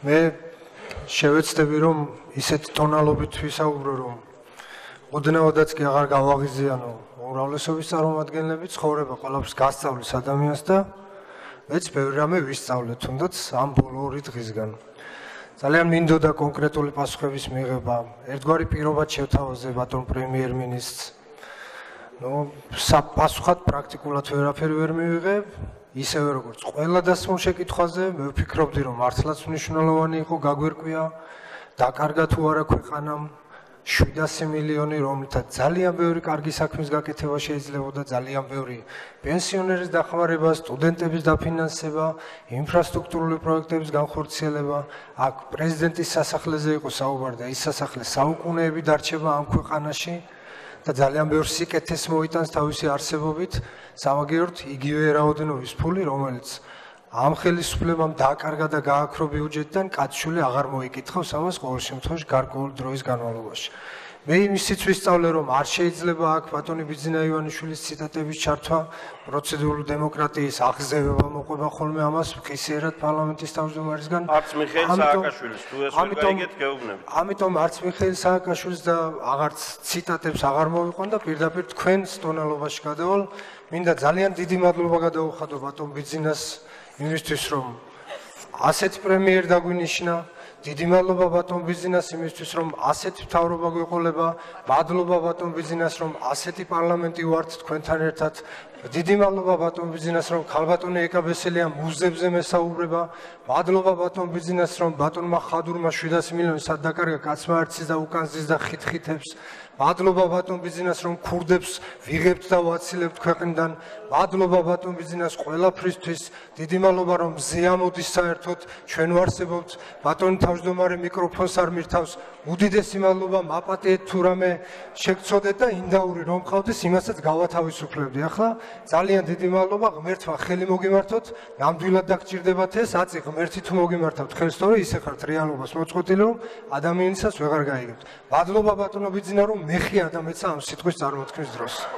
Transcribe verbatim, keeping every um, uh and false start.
მე შევეცდები რომ ისეთ ტონალობით ვისაუბრო რომ ოდნავადაც კი აღარ გავაღიზიანო უმრავლესობის წარმომადგენლები ცხოვრება ყველაფერს გასწავლის ადამიანს და მეც ბევრი რამე ვისწავლე თუნდაც ამ ბოლო ორი დღისგან ძალიან მინდოდა კონკრეტული პასუხების მიღება ერთგვარი პირობად შევთავაზე ბატონ პრემიერ-მინისტრს ნუ პასუხად პრაქტიკულად ვერაფერი ვერ მივიღე ისევე როგორც ყველა დასმულ შეკითხვაზე მე ვფიქრობდი რომ მართლაც მნიშვნელოვანი იყო გაგვერკვია დაკარგა თუ არა ქვეყანამ შვიდასი მილიონი რომელთაც ძალიან ბევრი კარგი საქმის გაკეთება შეიძლებოდა ძალიან ბევრი პენსიონერის დახმარება, სტუდენტების დაფინანსება, ინფრასტრუქტურული პროექტების განხორციელება, აქ პრეზიდენტის სასახლეზე იყო საუბარი და ის სასახლე საუკუნეები დარჩება ამ ქვეყანაში და ძალიან ბევრ სიკეთეს მოიტანს თავისი არსებობით, სამაგიეროდ იგივე რაოდენობის ფული, რომელიც ამ ხელისუფლებამ დააკარგა და გააქრო ბიუჯეტიდან კაცშული აღარ მოიკითხავს ამას ყოველ შემთხვევაში გარკვეული დროის განმავლობაში. მე იმისიც ვისწავლე რომ არ შეიძლება აქ ბატონი ბიძინა ივანიშვილის ციტატების ჩართვა, პროცედურული დემოკრატიის აღზევება მოყვება ხოლმე ამას ხისიერად პარლამენტის თავმჯდომარისგან. არც მიხეილ სააკაშვილის თუ ეს ვერ გაიგეთ გეუბნებით. ამიტომ არც მიხეილ სააკაშვილის და აღარც ციტატებს აღარ მოვიყვან და პირდაპირ თქვენს ტონალობაში გადავალ. მინდა ძალიან დიდი მადლობა გადაუხადო ბატონ ბიძინას იმისთვის რომ ასეთ პრემიერ დაგვინიშნა დიდი მადლობა ბატონ ბიძინას იმისთვის რომ ასეთი მთავრობა გვეყოლება მადლობა ბატონ ბიძინას რომ ასეთი პარლამენტი ვართ თქვენთან ერთად დიდი მადლობა ბატონ ბიძინას რომ ქალბატონი ეკაბესელია მუზებზე მესაუბრება მადლობა ბატონ ბიძინას რომ ბატონმა ხადურმა შვიდასი მილიონი სად დაკარგა კაცმა არცის და უკანზის და ხითხითებს მადლობა ბატონ ბიძინას რომ ქურდებს ვიღებთ და ვაცილებთ ქვეყნიდან მადლობა ბატონ ბიძინას ყველაფრისთვის დიდი მადლობა რომ ზეამოდის საერთოდ ჩვენ ვარსებობთ ბატონი თავმჯდომარე მიკროფონს არ მირთავს უდიდესი მადლობა მაპატიეთ თუ რამე შეგცოდეთ და ინდაური რომ ყავდეს იმასაც გავათავისუფლებდი ახლა ძალიან დიდი მადლობა ღმერთმა ხელი მოგიმართოთ ნამდვილად დაგჭირდებათ ეს აწი ღმერთი თუ მოგიმართავთ ხელს თორე ისე ხართ რეალობას მოწყვეტილი რომ ადამიანისას ვეღარ გაიგებთ მადლობა ბატონო ბიძინა რომ მეხია და მეცა ამ სიტყვის წარმოთქმის დროს